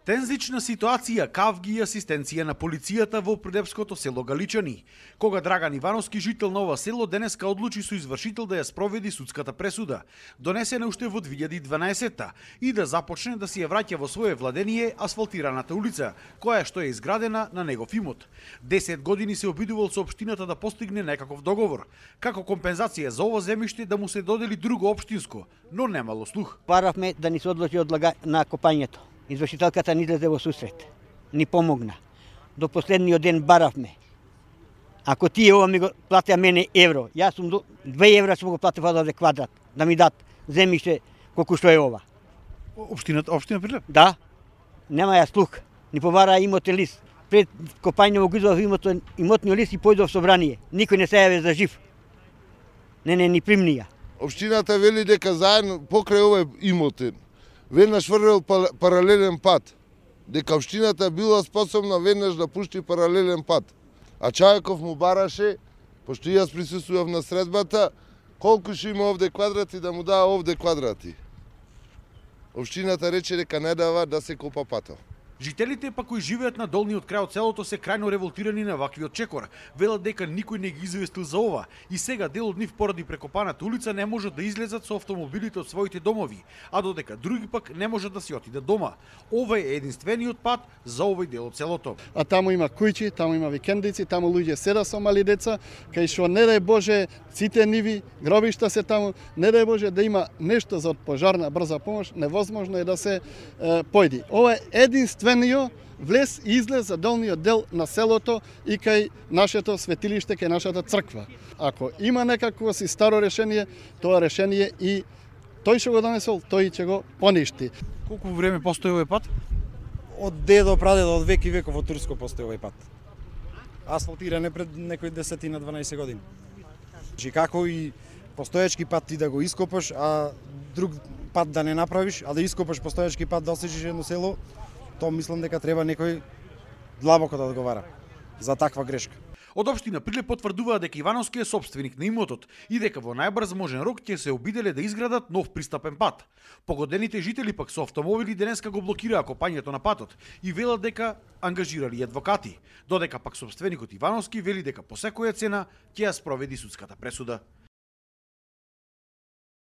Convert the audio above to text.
Тензична ситуација, кавги и асистенција на полицијата во придепското село Галичани. Кога Драган Ивановски, жител на ова село, денеска одлучи со извршител да ја спроведи судската пресуда, донесена уште во 2012-та, и да започне да си ја враќа во свое владение асфалтираната улица, која што е изградена на негов имот. 10 години се обидувал со општината да постигне некаков договор, како компензација за ова земјиште да му се додели друго општинско, но немало слух. Баравме да ни се одлучи на копањето. Извршителката ни излезе во сусрет, ни помогна. До последниот ден баравме. Ако тие ова ми го платеа мене евро, јас сум 2 евра сум го платив од квадрат, да ми дат земјиште колку што е ова. Општина Прилеп? Да, нема ја слух. Ни повара имотен лист. Пред копање го извадов имотниот лист и појдов собрание. Никој не се јаве за жив. Не ни примнија. Општината вели дека заедно покрај овој имотен веднаш врвел паралелен пат, дека општината била способна веднаш да пушти паралелен пат. А Чајков му бараше, пошто јас присуствував на средбата, колку што има овде квадрати да му даа овде квадрати. Општината рече дека не дава да се копа патот. Жителите па кои живеат на долниот крај од селото се крајно револтирани на ваквиот чекор. Велат дека никој не ги известил за ова и сега дел од нив поради прекопаната улица не можат да излезат со автомобилите од своите домови, а додека други пак не можат да си отидат дома. Ова е единствениот пат за овој дел од селото. А таму има кујчи, таму има викендици, таму луѓе седа со мали деца, кај што не дај Боже сите ниви, гробишта се таму, не дај Боже да има нешто за пожарна брза помош, невозможно е да се појди. Ова е единствениот влез и излез за долниот дел на селото и кај нашето светилиште, кај нашата црква. Ако има некакво си старо решение, тоа решение и тој што го донесол, тој ќе го поништи. Колку време постои овој пат? Од дедо, прадедо, од век и веков во Турско постои овој пат. Асфалтиран е пред некои 10-12 години. Значи како и постоечки пат ти да го ископаш, а друг пат да не направиш, а да ископаш постоечки пат да осечиш едно село, тоа мислам дека треба некој длабоко да одговара за таква грешка. Од општина Прилеп потврдуваа дека Ивановски е сопственик на имотот и дека во најбрз можен рок ќе се обиделе да изградат нов пристапен пат. Погодените жители пак со автомобили денеска го блокираа копањето на патот и велат дека ангажирали адвокати, додека пак сопственикот Ивановски вели дека по секоја цена ќе ја спроведи судската пресуда.